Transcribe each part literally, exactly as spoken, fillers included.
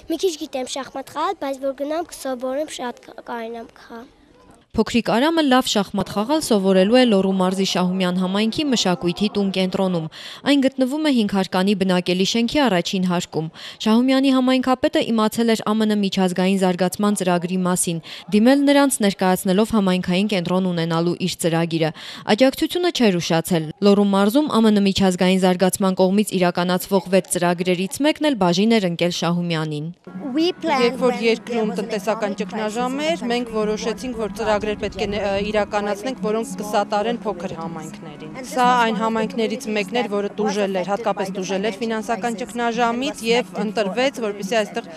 Մի քիչ գիտեմ շախմատ խաղալ, բայց որ գնամ կսովորեմ շատ կարողանամ խաղալ։ Փոքրիկ Արամը լավ շախմատ խաղալ սովորելու է Լոռու մարզի Շահումյան համայնքի մշակույթի տուն կենտրոնում։ Այն գտնվում է հինգ հարկանի բնակելի շենքի առաջին հարկում։ Շահումյանի համայնքապետը իմացել էր ԱՄՆ միջազգային զարգացման ծրագրի մասին, դիմել նրանց ներկայացնելով համայնքային կենտրոն ունենալու իր ծրագիրը։ Աջակցությունը չէր ուշացել։ Լոռու մարզում ԱՄՆ միջազգային զարգացման կողմից իրականացվող վեց ծրագրերից մեկն էլ բաժին էր ընկել Շահումյանին։ Երբ որ երկրում տնտեսական ճգնաժամ էր, մենք որոշեցինք, որ ծրագրեր պետք է իրականացնենք, որոնք կսատարեն փոքր համայնքներին։ Սա այն համայնքներից մեկն էր, որը տուժել էր, հատկապես տուժել էր ֆինանսական ճգնաժամից եւ ընտրվեց, որպեսզի այստեղ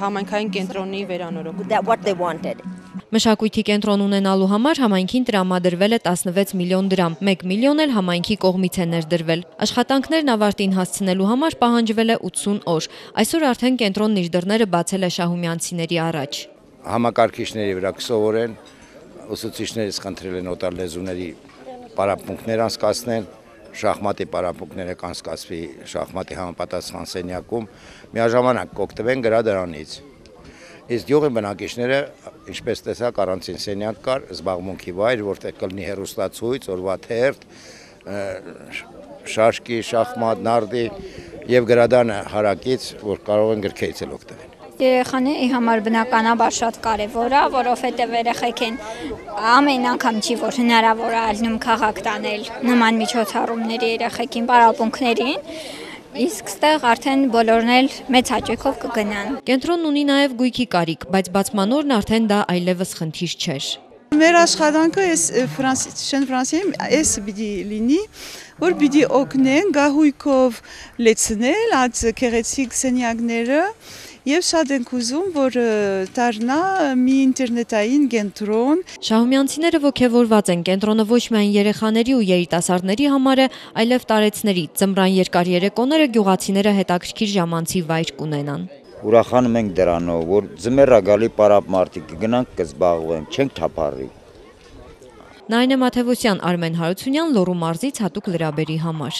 համայնքային կենտրոնի վերանորոգում։ Մշակույթի կենտրոն ունենալու համար համայնքին տրամադրվել է տասնվեց միլիոն դրամ, մեկ միլիոն էլ համայնքի կողմից է ներդրվել։ Աշխատանքներն ավարտին հասցնելու համար պահանջվել է ութսուն օր։ Այսօր արդեն կենտրոնն իր դռները բացել է շահումյանցիների առաջ։ Համակարգիչների վրա կսովորեն, ուսուցիչներից խնդրել են օտար լեզուների պարապմունքներ անցկացնել, շախմատի պարապմունքները կանցկացվի շախմատի համապատասխան սենյակում, միաժամանակ կօգտվեն գրադարանից։ Իսկ յուղի բնակիչները, ինչպես տեսակ, առանցին սենյակ կար, զբաղմունքի վայր, որտեղ կլինի հեռուստացույց, օրվա թերթ, շաշկի, շախմատ, նարդի եւ գրադարանը հարակից, որ կարող են գրքերից էլ օգտվել։ Երեխաների համար բնականաբար շատ կարևոր է, որովհետև երեխեք են ամեն անգամ չի, որ հնարավոր է ալնում քաղաք տանել նման միջոցառումների երեխեքին, պարապմունքներին, իսկ ստեղ արդեն բոլորն էլ մեծ հաճույքով կգնան։ Կենտրոնն ունի նաև գույքի կարիք, բայց բացմանորն արդեն դա այլևս խնդիր չէր։ Մեր աշխատանքը Շեն Ֆրանսիայում էս պիտի լինի, որ պիտի օգնեն գահույքով լեցնել այդ գեղեցիկ սենյակները եւ շատ ենք ուզում, որ դառնա մի ինտերնետային կենտրոն։ Շահումյանցիները ոգևորված են, կենտրոնը ոչ միայն երեխաների ու երիտասարդների համար է, այլև տարեցների։ Ձմռան երկար երեկոները գյուղացիները հետաքրքիր ժամանցի վայր կունենան։ Ուրախանում ենք դրանով, որ ձմեռա գալի պարապմարտիկ կգնանք կզբաղվենք, չենք թափառի։ Նայնե Մաթևոսյան, Արմեն Հարությունյան, Լոռու մարզից հատուկ լրաբերի համար։